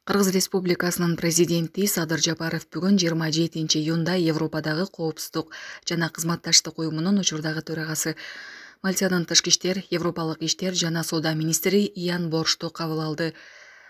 Кыргыз Республикасынын президенти Садыр Жапаров бүгүн 27 июнда Европадагы коопсуздук жана кызматташтык уюмунун учурдагы төрагасы Мальтанын тышкы иштер, Европалык иштер жана соода министри Ян Боршту кабыл алды.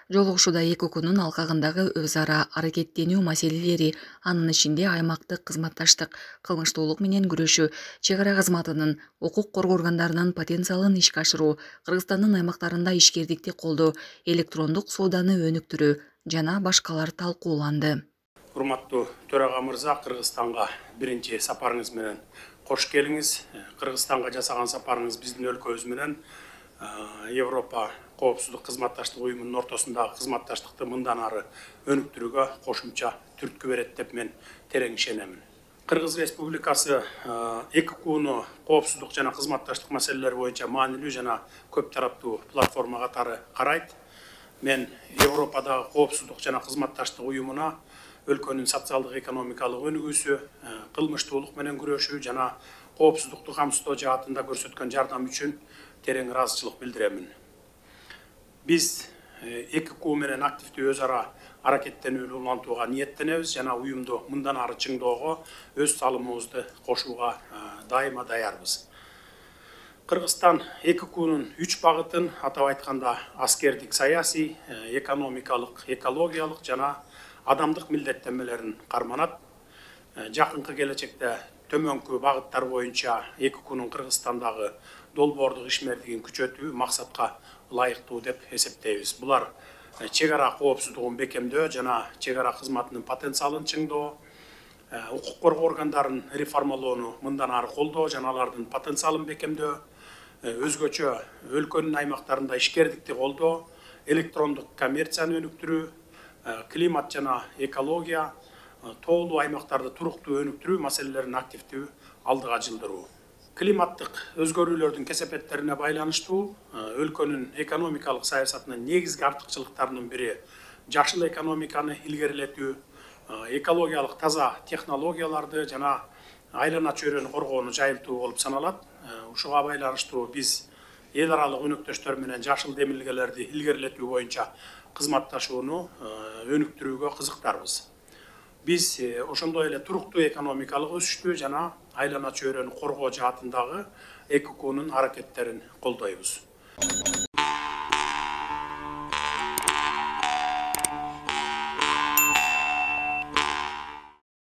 Жолугушууда эки укунун алкагындагы өз ара аракеттенүү маселелери, анын ичинде аймактык кызматташтык, кылмыштуулук менен күрөшүү, чек ара кызматынын, укук коргоо органдарынын потенциалын ишке ашыруу, Кыргызстандын аймактарында ишкердикти колдоо, электрондук сооданы өнүктүрүү жана башкалар талкууланды. Урматтуу төрага мырза, Кыргызстанга биринчи сапарыңыз менен кош келиңиз. Кыргызстанга жасаган сапарыңыз биздин өлкөбүз менен Европа коопсуздук кызматташтык уюмунун ортосундагы кызматташтыкты мындан ары өнүктүрүүгө кошумча түрткү берет деп мен терең ишенемин. Кыргыз Республикасы эки укууну коопсуздук жана кызматташтык маселелери боюнча маанилүү жана көп тараптуу платформа катары карайт. Мен Европадагы коопсуздук жана кызматташтык уюмуна өлкөнүн социалдык экономикалык өнүгүүсү, кылмыштуулук менен күрөшүү жана коопсуздукту камсыздоо жаатында көрсөткөн жардам үчүн терең ыраазычылык билдиремин. Биз эки укуу менен активдүү өз ара аракеттенүүнү улантууга ниеттенебиз жана уюмду мындан ары чыңдоого өз салымыбызды кошууга дайыма даярбыз. Кыргызстан эки укуунун 3 багытын, атап айтканда аскердик, саясий, экономикалык, экологиялык жана адамдык милдеттенмелерин карманат. Жакынкы келечекте төмөнкү багыттар боюнча эки укуунун Кыргызстандагы долбоордук ишмердигин күчөтүү максатка ылайыктуу деп эсептейбиз. Булар чек ара коопсуздугун бекемдөө жана чек ара кызматынын потенциалын чыңдоо, укук коргоо органдарын реформалоону мындан ары колдоо жана алардын потенциалын бекемдөө, өзгөчө өлкөнүн аймактарында ишкердикти колдоо, электрондук коммерцияны өнүктүрүү, климат жана экология, тоолуу аймактарды туруктуу өнүктүрүү маселелерин активдүү алдыга жылдыруу. Климаттык өзгөрүүлөрдүн кесепеттерине байланыштуу өлкөнүн экономикалык саясатынын негизги артыкчылыктарынын бири жашыл экономиканы илгерилетүү, экологиялык таза технологияларды жана айлана чөйрөнү коргоону жайылтуу болуп саналат. Ушуга байланыштуу биз эл аралык өнөктөштөр менен жашыл демилгелерди илгерилетүү боюнча кызматташууну өнүктүрүүгө кызыктарбыз. Биз ошондой эле туруктуу экономикалык өсүштү жана айлана чөйрөнү коргоо жаатындагы эки укуунун аракеттерин колдойбуз.